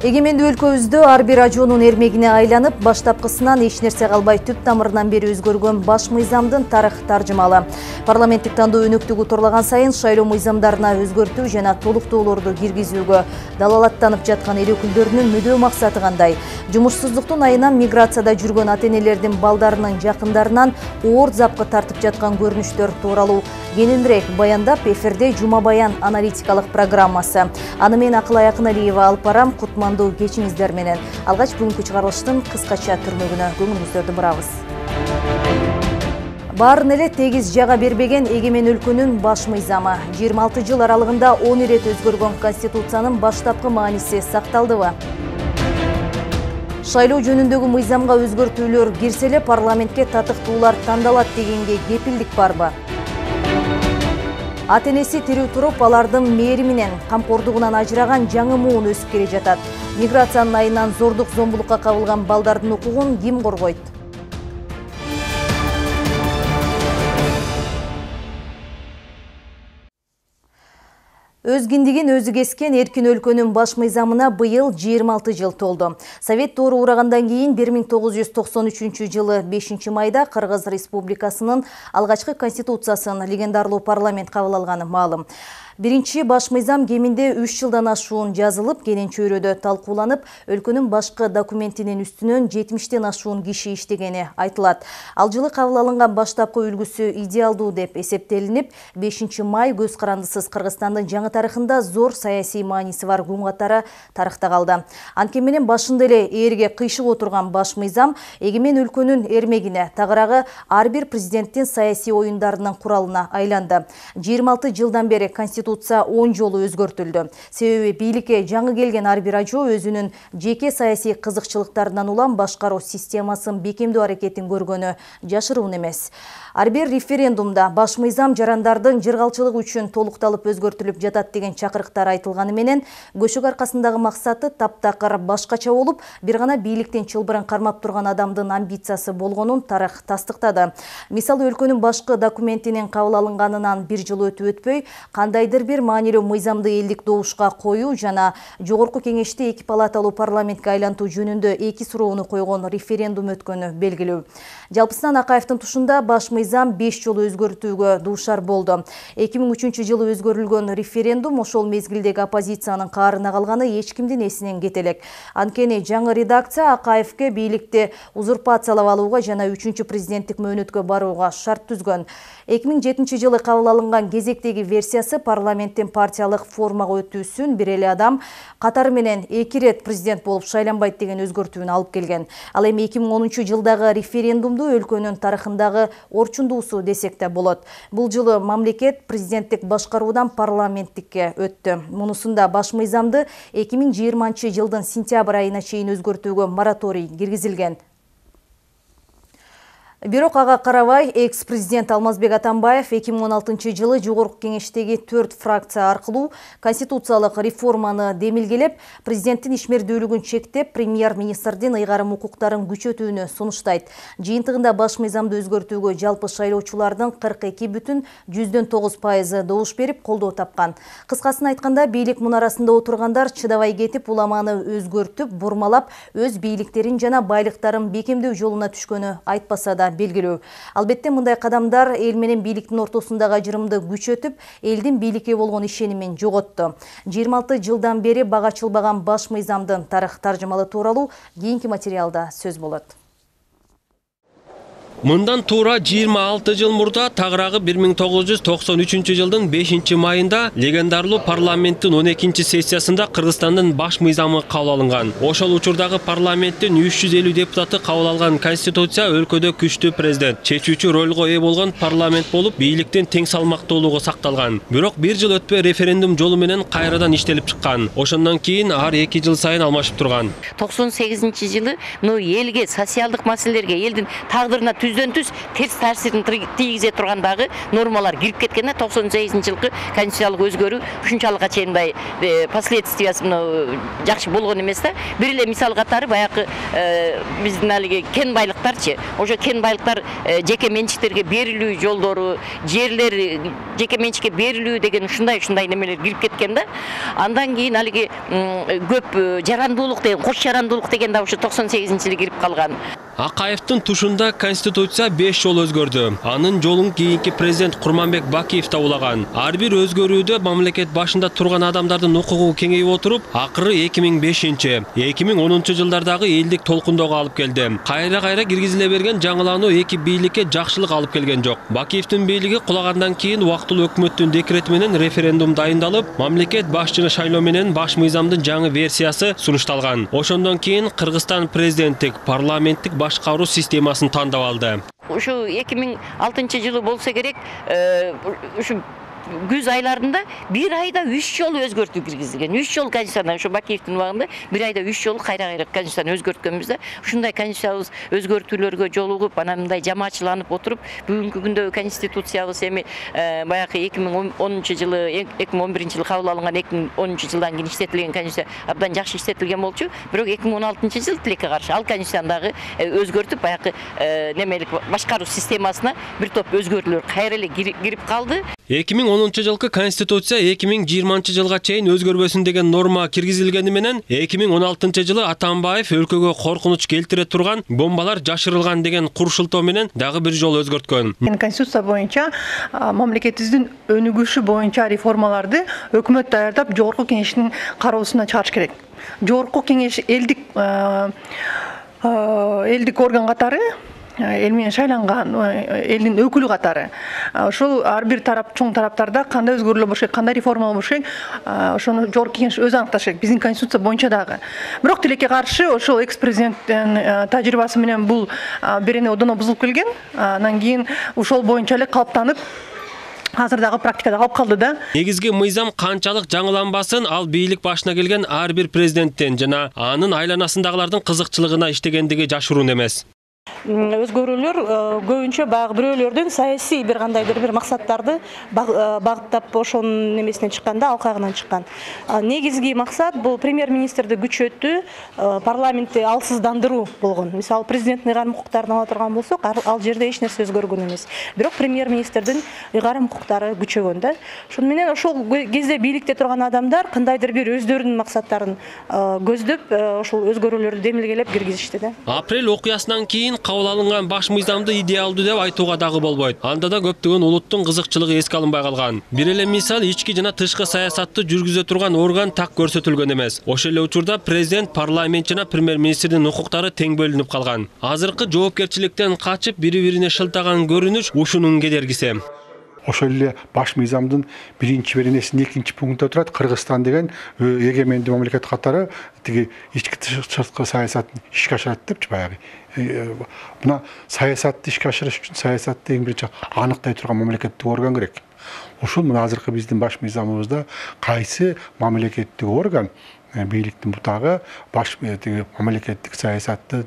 Эгемендүү өлкөбүздө ар бир ажоонун эрмегине айланып, баштапкысынан эч нерсе калбай түп тамырынан бери өзгөргөн баш мыйзамдын тарых таржымалы. Парламенттик тандоо өнөктүгү турлаган сайын шайлоо мыйзамдарына өзгөртүү жана толуктоолорду киргизүүгө далалаттанып жаткан эл өкүлдөрүнүн мүдөө максаты кандай? Жумушсуздуктун айынан миграцияда жүргөн ата-энелердин балдарынын жакындарынан оор запкы тартып жаткан көрүнүштөр тууралуу кененирээк баяндап, эфирде Жума Баян аналитикалык программасы. Аны мен Акылай Акыналиева алып барам. Кутмандуу кечиңиздер менен. Алгач бүгүнкү чыгарылыштын кыскача түрмөгүнө көңүлүңүздөрдү бурабыз. Баарын эле тегиз жага бербеген эгемен өлкөнүн баш мыйзамы. 26 жыл аралыгында 10 ирет өзгөргөн Конституциянын баштапкы мааниси сакталдыбы? Шайлоо жөнүндөгү мыйзамга өзгөртүүлөр кирсе эле парламентке татыктуулар тандалат дегенге кепилдик барбы? Ата-энеси тирүү туруп, алардын мээри менен камкордугунан ажыраган жаңы муун өсүп келе жатат. Миграциянын айынан зордук зомбулукка кабылган балдардын укугун ким коргойт? Өз киндигин өзү кескен эркин өлкөнүн баш мыйзамына быйыл 26 жыл толду. Совет доору урагандан кийин 1993 жылы 5 майда Кыргыз Республикасынын алгачкы конституциясын легендарлуу парламент кабыл алганы маалым. Биринчи баш мыйзам кеминде 3 жылдан ашуун жазылып, кенен чөйрөдө талкууланып, өлкөнүн башкы документинин үстүнөн 70тен ашуун киши иштегени айтылат. Ал жылы кабыл алынган баштапкы үлгүсү идеалдуу деп эсептелинип, 5 май көз карандысыз Кыргызстандын жаңы тарыхында зор саясий мааниси бар күн катары тарыхта калды. Анткени менен башында эле ээрге кыйшык отурган баш мыйзам эгемен өлкөнүн эрмегине, тагыраагы ар бир президенттин саясий оюндарынын куралына айланды. 26 жылдан бери Конституция 10 жолу өзгөртүлдү. Себеби бийликке жаңы келген ар бир ажоо өзүнүн жеке саясий кызыкчылыктарынан улам башкаруу системасын бекемдөө аракетин көргөнү жашыруун эмес. Ар бир референдумда баш мыйзам жарандардын жыргалчылыгы үчүн толукталып өзгөртүлүп жатат деген чакырыктар айтылганы менен, көчөк аркасындагы максаты таптакыр башкача болуп, бир гана бийликтен чылбырын кармап турган адамдын амбициясы болгонун тарых тастыктады. Мисалы, өлкөнүн башкы документинин кабыл алынганынан 1 жыл өтүп өтпөй, кандайдыр бир маанилүү мыйзамды элдик добушка коюу жана жогорку кеңешти 2 палаталуу парламентке айлантуу жөнүндө 2 суроону койгон референдум өткөнү белгилүү. Жалпысынан Акаевдин тушунда баш мыйзам 5 жолу өзгөртүүгө дуушар болду. 2003 жылы өзгөрүлгөн референдум ошол мезгилдеги оппозициянын каарына калганы эч кимдин эсинен кете элек. Анткени жаңы редакция Акаевке бийликти узурпациялап алууга жана 3 президенттик мөөнөткө барууга шарт түзгөн. 2007 жылы кабыл алынган кезектеги версиясы парламенттин партиялык формага өтүүсүн бир эле адам катары менен 2 рет президент болуп шайланбайт деген өзгөртүүнү алып келген. Ал эми 2010 жылдагы референдумду өлкөнүн тарыхындагы орчундуусу десек да болот. Бул жылы мамлекет президенттик башкаруудан парламенттикке өттү. Мунусунда баш мыйзамды 2020 жылдын сентябрь айына чейин өзгөртүүгө мораторий киргизилген. Бирок ага карабай, экс-президент Алмазбек Атамбаев 2016 жылы жогорку кеңештеги 4 фракция аркылуу конституциялык реформаны демилгелеп, президенттин ишмердүүлүгүн чектеп, премьер-министрдин ыйгарым укуктарын күчөтүүнү сунуштайт. Жыйынтыгында баш мыйзамды өзгөртүүгө жалпы шайлоочулардын 42,9% добуш берип, колдоо тапкан. Кыскасын айтканда, бийлик мунарасында отургандар чыдабай кетип, уламаны өзгөртүп, бурмалап, өз бийликтерин жана байлыктарын бекемдөө жолуна түшкөнү айтпаса да белгилүү. Албетте мындай кадамдар эл менен бийликтин ортосундагы ажырымды күчөтүп, элдин бийликке болгон ишенимин жоготту. 26 жылдан бери бага чылбаган баш мыйзамдын тарых таржымалы тууралуу кийинки материалда сөз болот. Мындан туура 26 жыл мурда тагыраагы 1993 жылдын 5 майында легендарлуу парламенттин 12 сессиясында Кыргызстандын баш мыйзамы кабыл алынган. Ошол учурдагы парламенттин 350 депутаты кабыл алган конституция өлкөдө күчтүү президент, чечүүчү ролго ээ болгон парламент болуп, бийликтин тең салмактуулугу сакталган. Бирок 1 жыл өтпөй референдум жолу менен кайрадан иштелип чыккан. Ошондон кийин ар 2 жыл сайын алмашып турган. 98 жылы элге, социалдык маселелерге, элдин тагдырына түз терс таасирин тийгизе турган дагы нормалар кирип кеткен да. 98-жылкы конституциялык өзгөрүү ушунчалыкка чейин мындай последствиясы жакшы болгон эмес да. Бир эле мисал катары баягы биздин алиги кен байлыктарчы. Ошо кен байлыктар жеке менчиктерге берилүү жолдору, жерлер жеке менчикке берилүү деген ушундай немелер кирип кеткен да. Андан кийин алиги көп жарандуулук деген, кош жарандуулук деген да ошо 98-жылы кирип калган. Акаевдин тушунда конституция 5 жол өзгөрдү. Анын жолун кийинки президент Курманбек Бакиев табулаган. Ар бир өзгөрүүдө мамлекет башында турган адамдардын укугу кеңейип отуруп, акыры 2005-2010 жылдардагы элдик толкундоого алып келди. Кайра киргизиле берген жаңылануу эки бийликке жакшылык алып келген жок. Бакиевдин бийлиги кулагандан кийин убактылуу өкмөттүн декрети менен референдум дайындалып, мамлекет башчыны шайлоо менен баш мыйзамдын жаңы версиясы сунушталган. Ошондон кийин Кыргызстан президенттик, парламенттик башкаруу системасын тандап алды. Ушу 2006-жылы болсо керек, ушу күз айларында бир айда 3 жолу өзгөртүү киргизилген. 3 жол конституцияны ошо Бакиевдин убагында бир айда 3 жолу кайра конституцияны өзгөрткөнбүз да. Ушундай конституциябыз өзгөртүүлөргө жолугуп, анан мындай жамаатчыланып отуруп, бүгүнкү күндөгү конституциябыз эми баягы 2010-жылы, 2011-жылы кабыл алынган, 2010-жылдан кийин иштетилген конституция абдан жакшы иштетилген болчу. Бирок 2016-жылы тилекке каршы ал конституцияны дагы өзгөртүп, баягы немелик башкаруу системасына бир топ өзгөрүүлөр кайра эле кирип калды. 2010-жылкы конституция 2020 жылга чейин өзгөрбөсүн деген норма киргизилгени менен 2016-жылы Атамбаев өлкөгө коркунуч келтире турган бомбалар жашырылган деген курушултоо менен дагы бир жолу өзгөрткөн. Конституция боюнча мамлекетибиздин өнүгүшү боюнча реформаларды өкмөт даярдап жогорку кеңештин кароосуна чыгарыш керек. Жогорку кеңеш элдик орган катары, эл менен шайланган элдин өкүлү катары. Ошол ар бир тарап, чоң тараптарда кандай өзгөрүүлөр болуш керек, кандай реформалар болуш керек, ошону жогорку кеңеш өзү аныкташ керек. Биздин конституция боюнча дагы. Бирок тилекке каршы ошол экс-президенттин тажрыйбасы менен бул берене одоно бузулуп келген. Анан кийин ошол боюнча эле калыптанып азырдагы практикада калып калды да. Негизги мыйзам канчалык жаңыланбасын, ал бийлик башына келген ар бир президенттен жана анын айланасындагылардын кызыкчылыгына иштегендиги жашыруун эмес. Өзгөрүүлөр көбүнчө баягы бирөөлөрдүн саясий бир кандайдыр бир максаттарды багыттап ошонун немесинен чыкканда, алкагынан чыккан. Негизги максат бул премьер-министрди күчөтүү, парламентти алсыздандыруу болгон. Мисалы президенттин ыйгарым укуктарын ала турган болсок, ал жерде эч нерсе өзгөргөн эмес. Бирок премьер-министрдин ыйгарым укуктары күчөгөн да. Ошону менен ошол кезде бийликте турган адамдар кандайдыр бир өздөрүнүн максаттарын көздөп, ошол өзгөрүүлөрдү демилгелеп киргизишти да. Апрель окуясынан кийин кабыл алынган баш мыйзамды идеалдуу деп айтууга дагы болбойт. Анда да көптөгөн улуттун кызыкчылыгы эске алынбай калган. Бир эле мисал, ички жана тышкы саясатты жүргүзө турган орган так көрсөтүлгөн эмес. Ошол эле учурда президент, парламент жана премьер-министрдин укуктары тең бөлүнүп калган. Азыркы жоопкерчиликтен качып бири-бирине шылтаган көрүнүш ушунун кедергиси. Ошол эле баш мыйзамдын биринчи беренесинин экинчи пунктунда турат, Кыргызстан деген эгемендүү мамлекет катары тиги ички тышкы саясатын ишке ашырат депчи баягы. Мына саясатты ишке ашырыш үчүн саясатты эң биринчи аныктай турган мамлекеттик орган керек. Ошол мына азыркы биздин баш мыйзамыбызда кайсы мамлекеттик орган бийликтин бутагы баш мамлекеттик саясатты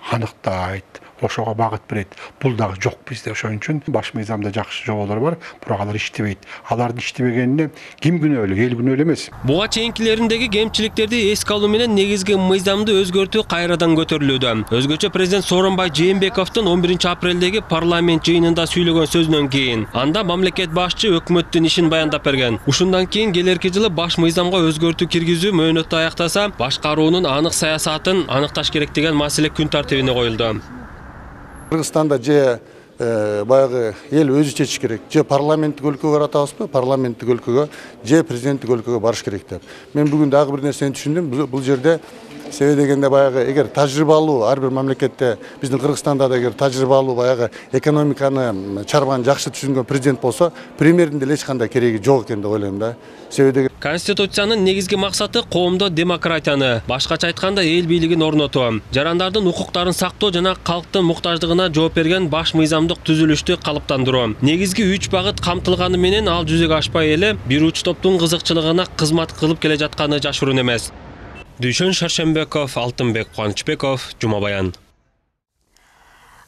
аныктайт, ошого багыт берет. Бул дагы жок бизде. Ошон үчүн баш мыйзамда жакшы жоболор бар, бирок алар иштебейт. Алардын иштебегенине ким күнөөлүү, эл күнөөлүү эмес. Буга чейинкилериндеги кемчиликтерди эске алуу менен негизги мыйзамды өзгөртүү кайрадан көтөрүлүүдө. Өзгөчө президент Сооронбай Жээнбековдун 11 апрелдеги парламент жыйынында сүйлөгөн сөзүнөн кийин анда мамлекет башчы өкмөттүн ишин баяндап берген. Ушундан кийин келерки жылы баш мыйзамга өзгөртүү киргизүү мөөнөтү аяктаса, башкаруунун анык саясатын аныкташ керек деген маселе күн тартибине коюлду. Кыргызстанда же баягы эл өзү чечиш керек. Же парламенттик өлкөгө баратабызбы, парламенттик өлкөгө, же президенттик өлкөгө барыш керек деп. Мен бүгүн дагы бир нерсени түшүндүм. Бул жерде себеби дегенде баягы эгер тажрыйбалуу ар бир мамлекетте, биздин Кыргызстанда да эгер тажрыйбалуу баягы экономиканы чарбаны жакшы түшүнгөн президент болсо, премьердин деле эч кандай кереги жок экен деп ойлойм да. Себеби Конституциянын негизги максаты коомдо демократияны, башкача айтканда эл бийлигин орнотуу, жарандардын укуктарын сактоо жана калктын муктаждыгына жооп берген баш мыйзамдык түзүлүштү калыптандыруу. Негизги 3 багыт камтылганы менен ал жүзөгө ашпай эле бир уч топтун кызыкчылыгына кызмат кылып келе жатканы жашыруун эмес. Дүйшөн Шаршембеков, Алтынбек Кубанычбеков, Жума Баян.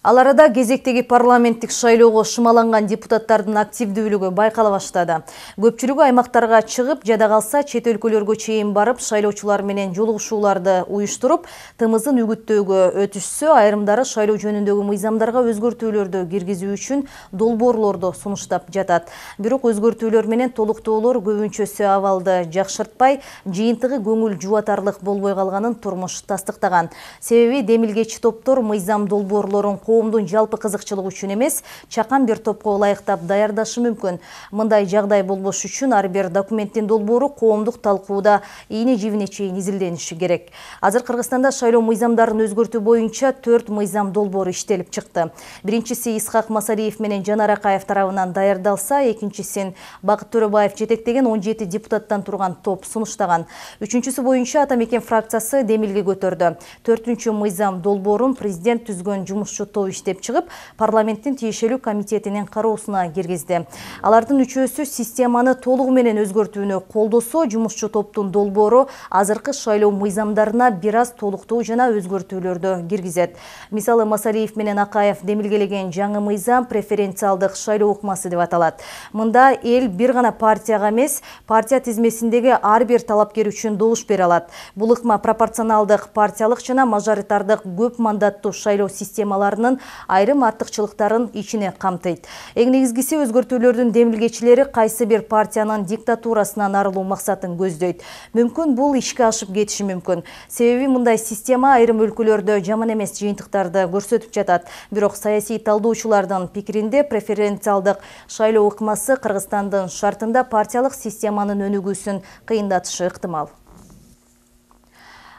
Ал арада кезектеги парламенттик шайлоого шымаланган депутаттардын активдүүлүгү байкала баштады. Көпчүлүгү аймактарга чыгып, жада калса чет өлкөлөргө чейин барып, шайлоочулар менен жолугушууларды уюштуруп, тымызын үгүттөөгө өтүшсө, айрымдары шайлоо жөнүндөгү мыйзамдарга өзгөртүүлөрдү киргизүү үчүн долбоорлорду сунуштап жатат. Бирок өзгөртүүлөр менен толуктоолор көбүнчөсү абалды жакшыртпай, жыйынтыгы көңүл жубатарлык болбой калганын турмуш тастыктаган. Себеби демилгечи топтор мыйзам долбоорлорун коомдун жалпы кызыкчылыгы үчүн эмес, чакан бир топко ылайыктап даярдашы мүмкүн. Мындай жагдай болбош үчүн ар бир документтин долбоору коомдук талкууда ийне жибине чейин изилдениши керек. Азыр Кыргызстанда шайлоо мыйзамдарын өзгөртүү боюнча 4 мыйзам долбоору иштелип чыкты. Биринчиси Исхак Масалиев менен Жанар Акаев тарабынан даярдалса, экинчисин Бакыт Төрөбаев жетектеген 17 депутаттан турган топ сунуштаган. Үчүнчүсү боюнча Ата Мекен фракциясы демилге көтөрдү. 4-үнчү мыйзам долбоорун президент түзгөн жумушчу топ иштеп чыгып, парламенттин тиешелүү комитетинин кароосуна киргизди. Алардын үчөөсү системаны толугу менен өзгөртүүнү колдосо, жумушчу топтун долбоору азыркы шайлоо мыйзамдарына бир аз толуктоо жана өзгөртүүлөрдү киргизет. Мисалы, Масалиев менен Акаев демилгелеген жаңы мыйзам преференциалдык шайлоо укмасы деп аталат. Мында эл бир гана партияга эмес, партия тизмесиндеги ар бир талапкер үчүн добуш бере алат. Бул ыкма пропорционалдык, партиялык жана мажоритардык көп мандаттуу шайлоо системаларынын айрым артыкчылыктарын ичине камтыйт. Эң негизгиси, өзгөртүүлөрдүн демилгечилери кайсы бир партиянын диктатурасынан арылуу максатын көздөйт. Мүмкүн бул ишке ашып кетиши мүмкүн. Себеби мындай система айрым өлкөлөрдө жаман эмес жыйынтыктарды көрсөтүп жатат. Бирок саясий талдоочулардын пикиринде преференциалдык шайлоо ыкмасы Кыргызстандын шартында партиялык системанын өнүгүүсүн кыйындатышы ыктымал.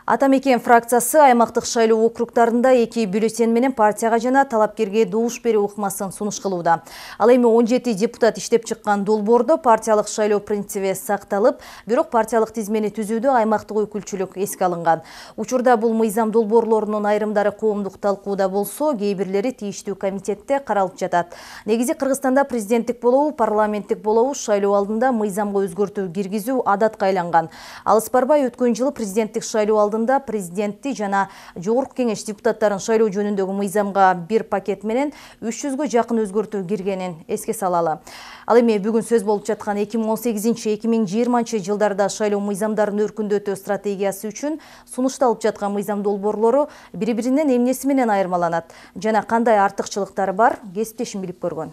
Ата Мекен фракциясы аймактык шайлоо округдарында 2 бюллетень менен партияга жана талапкерге добуш берүү ыкмасын сунуш кылууда. Ал эми 17 депутат иштеп чыккан долбоордо партиялык шайлоо принциби сакталып, бирок партиялык тизмени түзүүдө аймактык өкүлчүлүк эске алынган. Учурда бул мыйзам долбоорлорунун айрымдары коомдук талкууда болсо, кээ бирлери тийиштүү комитетте каралып жатат. Негизи Кыргызстанда президенттик болобу, парламенттик болобу шайлоо алдында мыйзамга өзгөртүү киргизүү адатка айланган. Алыс барбай өткөн жылы президенттик шайлоо президентти жана жогорку кеңеш депутаттарын шайлоо жөнүндөгү мыйзамга бир пакет менен 300гө жакын өзгөртүү киргенин эске салалы. Ал эми бүгүн сөз болуп жаткан 2018-2020 жылдарда шайлоо мыйзамдарын өркүндөтүү стратегиясы үчүн сунушталып жаткан мыйзам долбоорлору бири-биринен эмнеси менен айырмаланат жана кандай артыкчылыктары бар, кесиптешим билип көргөн.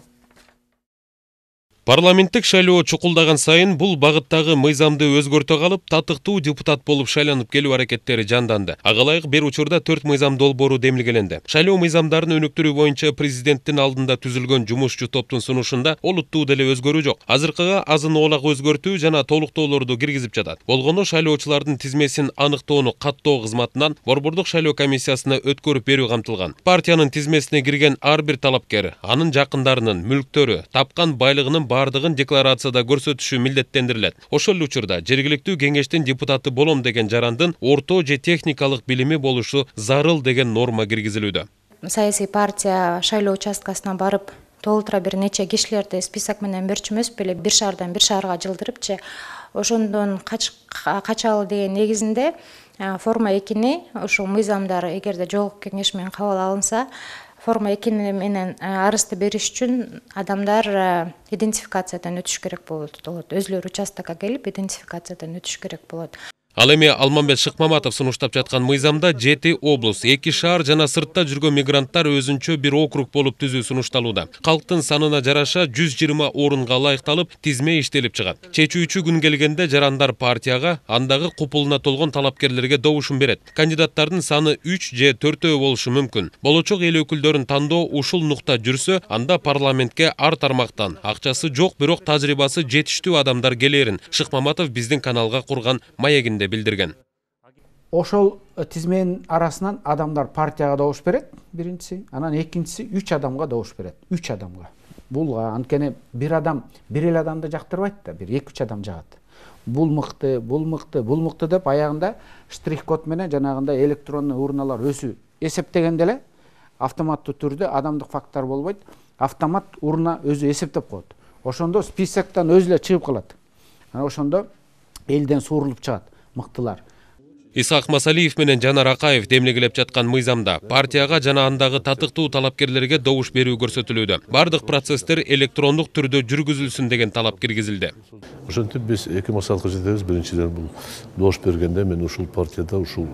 Парламенттик шайлоо чукулдаган сайын бул багыттагы мыйзамды өзгөртө калып, татыктуу депутат болуп шайланып келүү аракеттери жанданды. Ага ылайык бир учурда 4 мыйзам долбоору демилгеленди. Шайлоо мыйзамдарын өнүктүрүү боюнча президенттин алдында түзүлгөн жумушчу топтун сунушунда олуттуу деле өзгөрүү жок. Азыркыга азын оолак өзгөртүү жана толуктоолорду киргизип жатат. Болгону шайлоочулардын тизмесин аныктоону каттоо кызматынан Борбордук шайлоо комиссиясына өткөрүп берүү камтылган. Партиянын тизмесине кирген ар бир талапкер анын жакындарынын мүлктөрү, тапкан байлыгынын бардыгын декларацияда көрсөтүшү милдеттендирилет. Ошол учурда жергиликтүү кеңештин депутаты болом деген жарандын орто же техникалык билими болушу зарыл деген норма киргизилүүдө. Саясий партия шайлоо участкасына барып, толтура бир нече кишилерди список менен берчү эмес беле, бир шаардан бир шаарга жылдырыпчы. Ошондон качалы деген негизинде форма 2-ни ошол мыйзамдар эгерде жогорку кеңеш менен кабыл алынса, форма 2 менен арызды бериш үчүн адамдар идентификациядан өтүш керек болот. Өзлөрү участокко келип идентификациядан өтүш керек болот. Ал эми Алмамбет Шыкмаматов сунуштап жаткан мыйзамда 7 облус, 2 шаар жана сыртта жүргөн мигранттар өзүнчө бир округ болуп түзүү сунушталууда. Калктын санына жараша 120 орунга ылайыкталып, тизме иштелип чыгат. Чечүүчү күн келгенде жарандар партияга, андагы купулуна толгон талапкерлерге добушун берет. Кандидаттардын саны 3 же 4 болушу мүмкүн. Болочок эл өкүлдөрүн тандоо ушул нукта жүрсө, анда парламентке ар тармактан акчасы жок, бирок тажрыйбасы жетиштүү адамдар келерин Шыкмаматов биздин каналга курган маегинде билдирген. Ошол тизменин арасынан адамдар партияга добуш берет, биринчиси, анан экинчиси 3 адамга добуш берет. 3 адамга. Бул анткени бир адам, бир эле адамды жактырбайт да, бир 2-3 адам жагат. Бул мыкты деп аягында штрих-код менен жанагындай электронный урналар өзү эсептегенде эле автоматтуу түрдө адамдык факттар болбойт, автомат урна өзү эсептеп коет. Ошондо списоктон өзү эле чыгып калат. Ошондо элден суурулуп чыгат мыктылар. Исхак Масалиев менен Жанар Акаев демлегелеп жаткан мыйзамда партияга жана андагы татыктуу талапкерлерге добуш берүү көрсөтүлүүдө. Бардык процесстер электрондук түрдө жүргүзүлсүн деген талап киргизилди. Ошентип биз эки максатка жетебиз. Биринчиден бул добуш бергенде мен ушул партияда ушул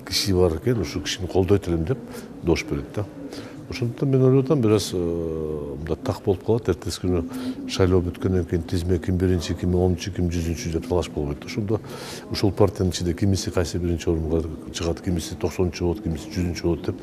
киши бар экен, ушул кишини колдойт элем деп добуш берет да. Ошондуктан мен ойлоп атам, бир аз мында так болуп калат. Эртеси күнү шайлоо бүткөндөн кийин тизме ким биринчи, ким 10-чу, ким 100-чү деп талаш болбойт. Ошондо ушул партиянын ичинде кимиси кайсы биринчи орунга чыгат, кимиси 90-чу болот, кимиси 100-чү болот деп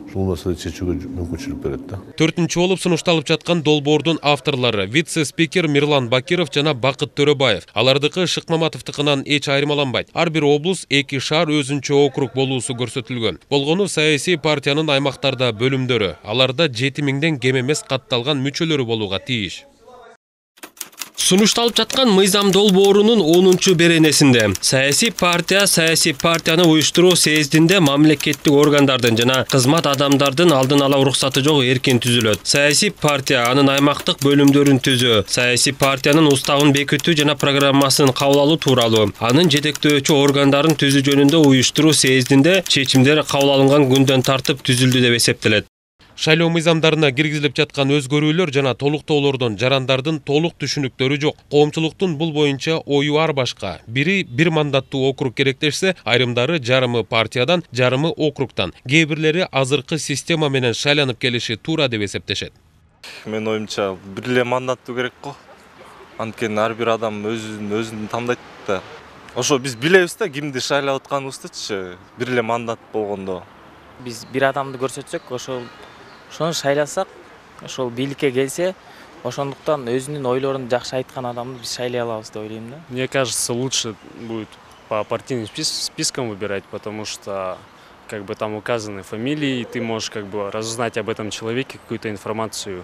ушул маселени чечүүгө мүмкүнчүлүк берет да. 4-чү болуп сунушталып жаткан долбоордун авторлору вице-спикер Мирлан Бакиров жана Бакыт Төрөбаев. Алардыкы Шыкмаматовдукунан эч айырмаланбайт. Ар бир облус 2 шаар өзүнчө округ болуусу көрсөтүлгөн. Болгону саясий партиянын аймактарда бөлүмдөрү, аларда 7000ден кем эмес катталган мүчөлөрү болууга тийиш. Сунушталып жаткан мыйзам долбоорунун 10-чу беренесинде саясий партияны уюштуруу съездинде мамлекеттик органдардын жана кызмат адамдардын алдын ала уруксаты жок эркин түзүлөт. Саясий партия анын аймактык бөлүмдөрүн түзүү, саясий партиянын уставын бекитүү жана программасын кабыл алуу тууралуу, анын жетектөөчү органдарын түзүү жөнүндө уюштуруу съездинде чечимдер кабыл алынган күндөн тартып түзүлдү деп эсептелет. Шайлоо мыйзамдарына киргизилип жаткан өзгөрүүлөр жана толуктоолордон жарандардын толук түшүнүктөрү жок. Коомчулуктун бул боюнча ою ар башка. Бири бир мандаттуу округ керектешсе, айрымдары жарымы партиядан, жарымы округтан, кээ бирлери азыркы система менен шайланып келиши туура деп эсептешет. Мен оюмча бир эле мандаттуу керек го. Анткени ар бир адам өзүн тандайт да. Ошо биз билебиз да кимди шайлап атканыбыздычы, бир эле мандат болгондо. Биз бир адамды көрсөтсөк, ошону шайласак, ошол бийликке келсе, ошондуктан өзүнүн ойлорун жакшы айткан адамды биз шайлай алабыз деп ойлойм да. Мне кажется, лучше будет по партийным спискам выбирать, потому что как бы там указаны фамилии, и ты можешь как бы разузнать об этом человеке какую-то информацию.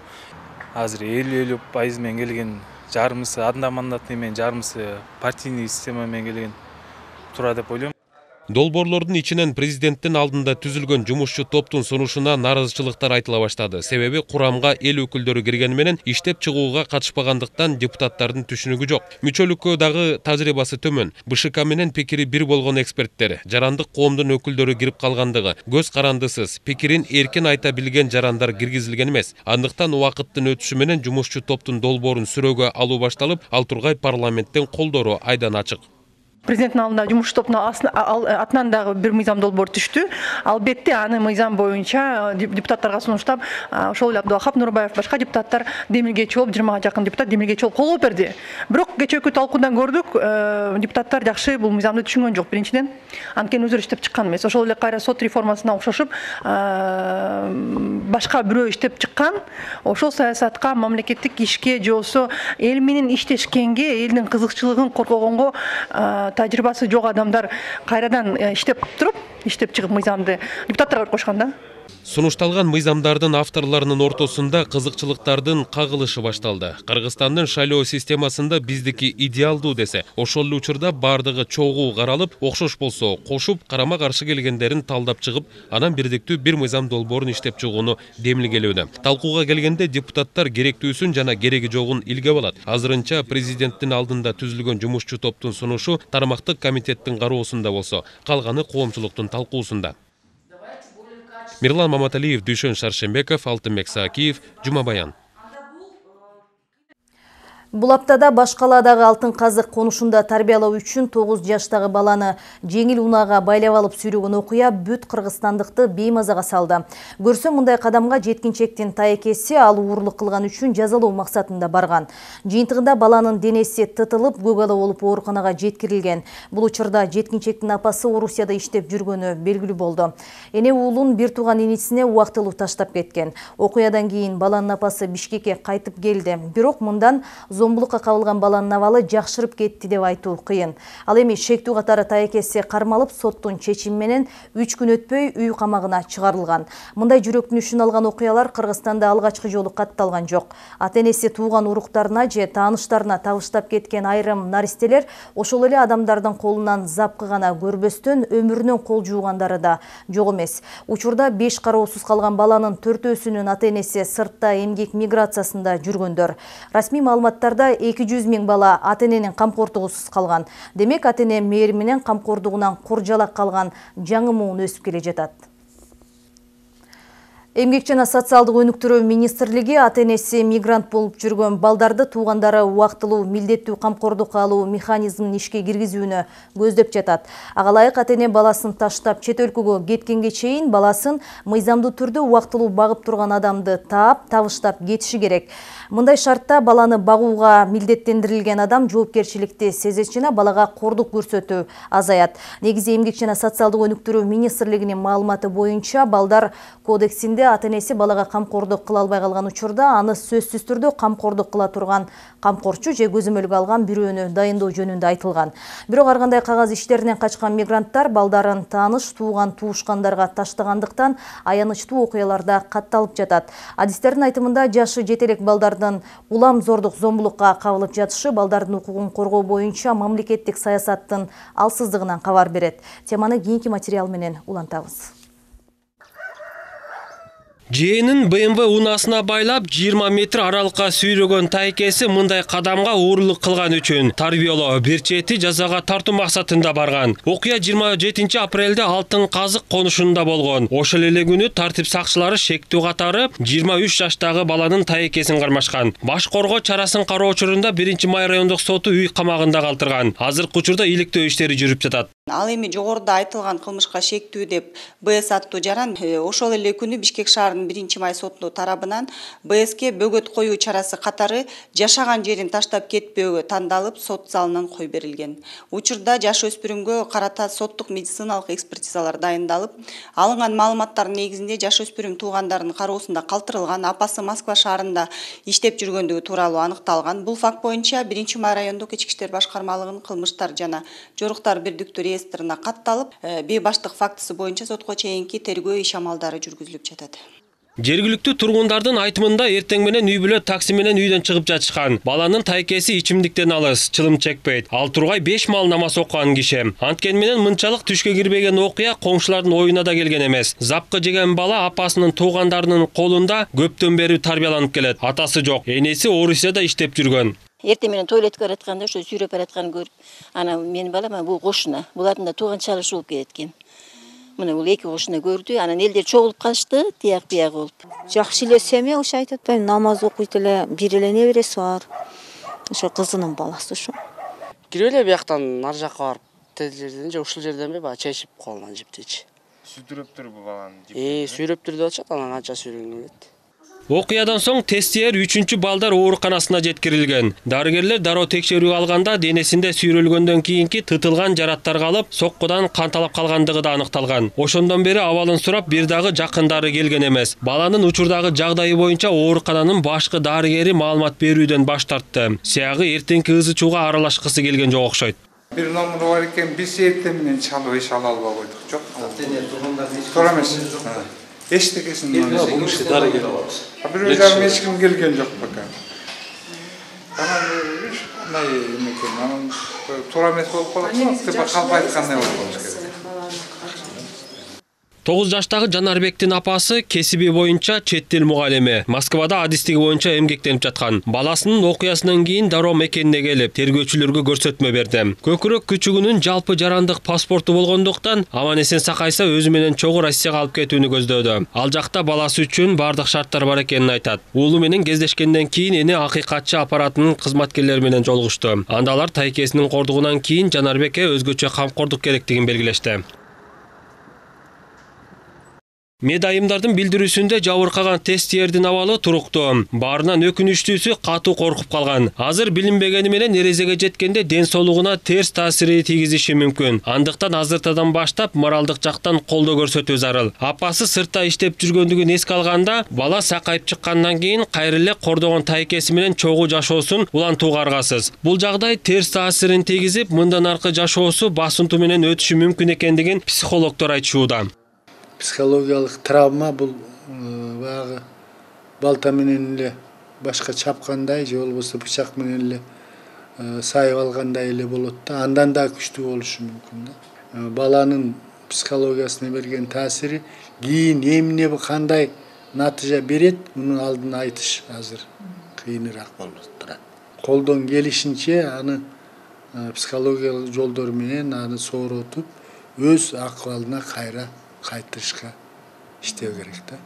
Азыр 50% менен келген, жарымысы одномандатный менен, жарымысы партийный система менен келген тура деп ойлойм. Долбоорлордун ичинен президенттин алдында түзүлгөн жумушчу топтун сунушуна наразычылыктар айтыла баштады. Себеби курамга эл өкүлдөрү киргени менен иштеп чыгууга катышпагандыктан депутаттардын түшүнүгү жок. Мүчөлүккө дагы тажрыйбасы төмөн. БШК менен пикири бир болгон эксперттер, жарандык коомдун өкүлдөрү кирип калгандыгы, көз карандысыз, пикирин эркин айта билген жарандар киргизилген эмес. Андыктан убакыттын өтүшү менен жумушчу топтун долбоорун сүрөөгө алуу башталып, ал тургай парламенттен колдору айдан ачык. Президенттин алдында жумуш тобуна атынан дагы бир мыйзам долбоор түштү. Албетте аны мыйзам боюнча депутаттарга сунуштап, ошол эле Абдулахап Нурбаев башка депутаттар демилгечи болуп, 20га жакын депутат демилгечи болуп кол берди. Бирок кечээки талкуудан көрдүк, депутаттар жакшы бул мыйзамды түшүнгөн жок. Биринчиден, анткени өзүрө иштеп чыккан эмес. Ошол эле кайра сот реформасына окшошуп, башка бирөө иштеп чыккан. Ошол саясатка, мамлекеттик ишке же болсо эл менен иштешкенге, элдин кызыкчылыгын коргогонго тажрыйбасы жок адамдар кайрадан иштеп чыгып мыйзамды депутаттарга кошкон да. Сунушталган мыйзамдардын авторлорунун ортосунда кызыкчылыктардын кагылышы башталды. Кыргызстандын шайлоо системасында биздики идеалдуу десе, ошол эле учурда бардыгы чогуу каралып, окшош болсо кошуп, карама каршы келгендерин талдап чыгып, анан бирдиктүү бир мыйзам долбоорун иштеп чыгууну демилгелөөдө. Талкууга келгенде депутаттар керектүүсүн жана кереги жогун илгеп алат. Азырынча президенттин алдында түзүлгөн жумушчу топтун сунушу тармактык комитеттин кароосунда болсо, калганы коомчулуктун талкуусунда. Мирлан Маматалиев, Дүйшөн Шаршембеков, Алтынбек Саакиев, Жума Баян. Бул аптада Башкаладагы Алтын казык конушунда тарбиялоо үчүн 9 жаштагы баланы жеңил унаага байлап алып сүйрөгөн окуя бүт кыргызстандыкты беймазага салды. Көрсө мындай кадамга жеткинчектин тайекеси ал уурлук кылган үчүн жазалоо максатында барган. Жыйынтыгында баланын денеси тытылып, көк ала болуп ооруканага жеткирилген. Бул учурда жеткинчектин апасы Орусияда иштеп жүргөнү белгилүү болду. Эне уулун бир тууган инисине убактылуу таштап кеткен. Окуядан кийин баланын апасы Бишкекке кайтып келди. Бирок мындан зомбулукка кабылган баланын абалы жакшырып кетти деп айтуу кыйын. Ал эми шектүү катары тайекеси кармалып, соттун чечими менен 3 күн өтпөй үй камагына чыгарылган. Мындай жүрөктүнүшүн алган окуялар Кыргызстанда алгачкы жолу катталган жок. Ата-энеси тууган уруктарына же тааныштарына табыштап кеткен айрым наристелер ошол эле адамдардын колунан запкы гана көрбөстөн өмүрүнөн кол жуугандары да жок эмес. Учурда 5 кароосуз калган баланын 4-өсүнүн ата-энеси сыртта эмгек миграциясында жүргөндөр. Расмий маалыматтар аймактарда 200 000 бала ата-эненин камкордугусуз калган. Демек, ата-эне мээри менен камкордугунан куржалак калган жаңы муун өсүп келе жатат. Эмгек жана социалдык өнүктүрүү министрлиги ата-энеси мигрант болуп жүргөн балдарды туугандары убактылуу милдеттүү камкордукка алуу механизмин ишке киргизүүнү көздөп жатат. Ага ылайык ата-эне баласын таштап чет өлкөгө кеткенге чейин баласын мыйзамдуу түрдө убактылуу багып турган адамды табыштап кетиши керек. Мындай шартта баланы багууга милдеттендирилген адам жоопкерчиликти сезет жана балага кордук көрсөтүү азаят. Негизи Эмгек жана социалдык өнүктүрүү министрлигинин маалыматы боюнча балдар кодексинде ата-энеси балага камкордук кыла албай калган учурда аны сөзсүз түрдө камкордук кыла турган камкорчу же көзөмөлгө алган бирөөнү дайындоо жөнүндө айтылган. Бирок ар кандай кагаз иштеринен качкан мигранттар балдарын тааныш, тууган туушкандарга таштагандыктан аянычтуу окуяларда катталып жатат. Адистердин айтымында жашы жете элек балдардын улам зордук зомбулукка кабылып жатышы балдардын укугун коргоо боюнча мамлекеттик саясаттын алсыздыгынан кабар берет. Теманы кийинки материал менен улантабыз. Жээнин БМВ унасына байлап 20 метр аралыкка сүйрөгөн тайкеси мындай кадамга уурулук кылган үчүн тарбиялоо бир чети жазага тартуу максатында барган. Окуя 27 апрелде Алтын Казык конушунда болгон. Ошол эле күнү тартип сакчылары шектүү катары 23 жаштагы баланын тайкесин кармашкан. Баш коргоо чарасын кароо учурунда 1-май райондук соту үй камагында калтырган. Азыркы учурда иликтөө иштери жүрүп жатат. Ал эми жогоруда айтылган кылмышка шектүү деп БС аттуу жаран ошол эле күнү Бишкек шаарынын 1-май соту тарабынан БСке бөгөт коюу чарасы катары жашаган жерин таштап кетпөөгө тандалып сот залынан кой берилген. Учурда жаш өспүрүмгө карата соттук медициналык экспертизалар дайындалып, алынган маалыматтардын негизинде жаш өспүрүм туугандарынын кароосунда калтырылган, апасы Москва шаарында иштеп жүргөндүгү тууралуу аныкталган. Бул факт боюнча 1-май райондук ички иштер башкармалыгынын кылмыштар жана жоруктар бирдиктүү реестрина катталып, бейбаштык фактысы боюнча сотко чейинки тергөө иш амалдары жүргүзүлүп жатат. Жергиликтүү тургундардын айтымында эртең менен үй бүлө такси менен үйдөн чыгып жатышкан. Баланын тайкеси ичимдиктен алыс, чылым чекпейт. Ал тургай 5 маал намаз окуган киши. Анткени менен мынчалык түшкө кирбеген окуя коңшулардын оюна да келген эмес. Запкы жеген бала апасынын туугандарынын колунда көптөн бери тарбияланып келет. Атасы жок. Энеси Орусияда иштеп жүргөн. Эртең менен туалетке баратканда ошо сүйрөп баратканын көрүп, ана менин балам бул кошуна, булардын да тууган чалышы болуп кеткен. Мына бул эки кошуна көрдү, анан элдер чогулуп калышты, тияк бияк болуп. Жакшы эле семья, ошо айтып атпаймынбы, намаз окуйт эле, бир эле небереси бар. Ошо кызынын баласы ошо. Кирип эле бияктан ар жакка барып, тезлерден же ушул жерден баягы чай ичип колунан жиптечи. Сүйдүрөптүр бул баланы. Сүйрөптүр деп атышат, анан канча сүйрөнгөн келет. Окуядан соң тестиер 3-чү балдар ооруканасына жеткирилген. Дарыгерлер дароо текшерүү алганда денесинде сүйрөлгөндөн кийинки тытылган жараттар калып, соккудан кан талап калгандыгы да аныкталган. Ошондон бери абалын сурап бир дагы жакындары келген эмес. Баланын учурдагы жагдайы боюнча оорукананын башкы дарыгери маалымат берүүдөн баш тартты. Сыягы эртеңки ызы чууга аралашкысы келген жок окшойт. Бир номер бар экен, биз эртең менен чалып эч ала албай койдук. Жок. Туура эмес. Эчтекесин бул ишке дарыгер алабыз. Бирөө жарым эч ким келген жок пока. Анан мындай эмекен, анан туура эмес болуп калат, деп калп айткандай болуп калыш керек. 9 жаштагы Жанарбектин апасы кесиби боюнча чет тил мугалими. Москвада адистиги боюнча эмгектенип жаткан. Баласынын окуясынан кийин дароо мекенине келип, тергөөчүлөргө көрсөтмө берди. Көкүрөк күчүгүнүн жалпы жарандык паспорту болгондуктан аман-эсен сакайса өзү менен чогуу Россияга алып кетүүнү көздөөдү. Ал жакта баласы үчүн бардык шарттар бар экенин айтат. Уулу менен кездешкенден кийин эне акыйкатчы аппаратынын кызматкерлери менен жолугушту. Анда алар тайкесинин кордугунан кийин Жанарбекке өзгөчө камкордук керектигин белгилешти. Медайымдардын билдирүүсүндө жабыркаган тестиердин абалы туруктуу. Баарынан өкүнүчтүүсү катуу коркуп калган. Азыр билинбегени менен эрезеге жеткенде ден соолугуна терс таасири тийгизиши мүмкүн. Андыктан азыртадан баштап моралдык жактан колдоо көрсөтүү зарыл. Апасы сыртта иштеп жүргөндүгүн эске алганда, бала сакайып чыккандан кийин кайра эле кордогон тайкеси менен чогуу жашоосун улантууга аргасыз. Бул жагдай терс таасирин тийгизип, мындан аркы жашоосу басынтуу менен өтүшү мүмкүн экендигин психологдор айтышууда. Психологиялык травма бул баягы балта менен эле башка чапкандай же болбосо бычак менен эле сайып алгандай эле болот да, андан да күчтүү болушу мүмкүн да. Баланын психологиясына берген таасири кийин эмне кандай натыйжа берет, мунун алдын айтыш азыр кыйыныраак болуп турат. колдон келишинче аны психологиялык жолдор менен аны сооротуп өз акыбалына кайра кайтырышка иштөө керек да.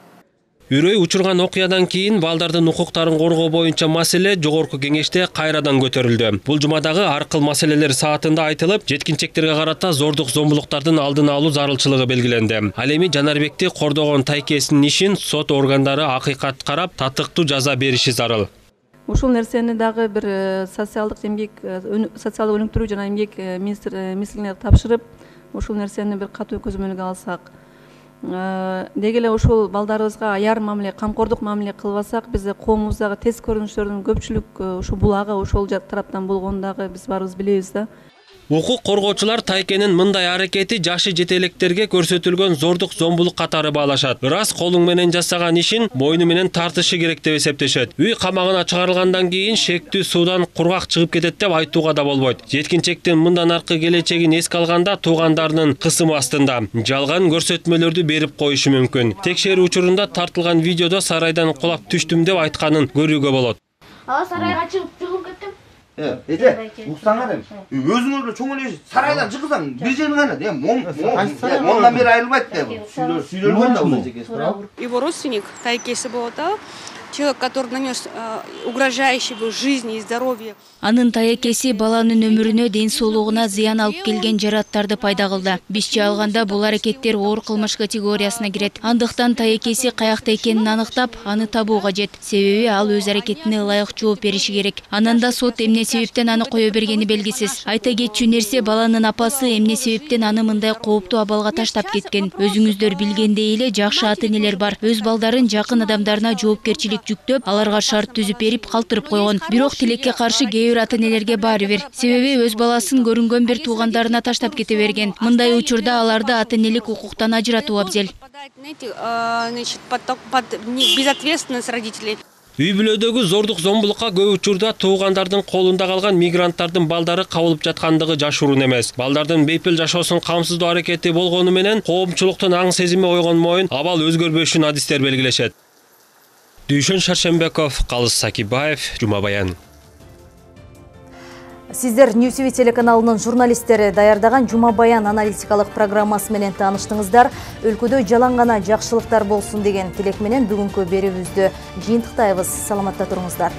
Үрөй учурган окуядан кийин балдардын укуктарын коргоо боюнча маселе жогорку кеңеште кайрадан көтөрүлдү. Бул жумадагы ар кыл маселелер саатында айтылып, жеткинчектерге карата зордук зомбулуктардын алдын алуу зарылчылыгы белгиленди. Ал эми Жанарбекти кордогон тайкесинин ишин сот органдары акыйкат карап, татыктуу жаза бериши зарыл. Ушул нерсени дагы бир социалдык өнүктүрүү жана эмгек министрлигине тапшырып, ушул нерсени бир катуу көзөмөлгө алсак, деги эле ушул балдарыбызга аяр мамиле, камкордук мамиле кылбасак, биз коомубуздагы терс көрүнүштөрдүн көпчүлүк ушул булагы ошол тараптан болгонун дагы биз баарыбыз билебиз да. Укук коргоочулар Тайкенин мындай аракети жашы жете электерге көрсөтүлгөн зордук зомбулук катары баалашат. Ырас колуң менен жасаган ишин мойну менен тартышы керек деп эсептешет. Үй камагына чыгарылгандан кийин шектүү суудан кургак чыгып кетет деп айтууга да болбойт. Жеткинчектин мындан аркы келечегин эске алганда туугандарынын кысымы астында жалган көрсөтмөлөрдү берип коюшу мүмкүн. Текшерүү учурунда тартылган видеодо сарайдан кулап түштүм деп айтканын көрүүгө болот. Сарайга чыгып кетtim. Эже, уксаңар эми. Өзүңөр эле чоң эле сарайдан чыгсаң, бир жерин гана, мондан бери айрылбайт деп. Сүйлөлгөн да бул. Его родственник, тайкеси болот да, человек, который нанес угрожающий жизни и здоровью. Анын таекеси баланын өмүрүнө, ден соолугуна зыян алып келген жараттарды пайда кылды. Бизче алганда бул аракеттер оор кылмыш категориясына кирет. Андыктан таекеси каякта экенин аныктап, аны табуу кажет. Себеби ал өз аракетине ылайык жооп бериши керек. Анан да сот эмне себептен аны кое бергени белгисиз. Айта кетчү нерсе, баланын апасы эмне себептен аны мындай кооптуу абалга таштап кеткен. Өзүңүздөр билгендей эле жакшы ата-энелер бар. Өз балдарын жакын адамдарына жоопкерчилик жүктөп, аларга шарт түзүп берип калтырып койгон. Бирок тилекке каршы ата-энелерге баары бир. Себеби өз баласын көрүнгөн бир туугандарына таштап кете берген. Мындай учурда аларды ата-энелик укуктан ажыратуу абзел. Безответственность родителей. Үй бүлөдөгү зордук зомбулукка көп учурда туугандардын колунда калган мигранттардын балдары кабылып жаткандыгы жашыруун эмес. Балдардын бейпил жашоосун камсыздоо аракети болгону менен коомчулуктун аң сезими ойгон моюн абал өзгөрбөшүн адистер белгилешет. Дүйшөн Шаршембеков, Калыс Сакибаев, Жума Баян. Сиздер Ньюсиви телеканалынын журналисттери даярдаган Жума Баян аналитикалык программасы менен тааныштыңыздар. Өлкөдө жалаң гана жакшылыктар болсун деген тилек менен бүгүнкү берүүбүздү жыйынтыктайбыз. Саламатта туруңуздар.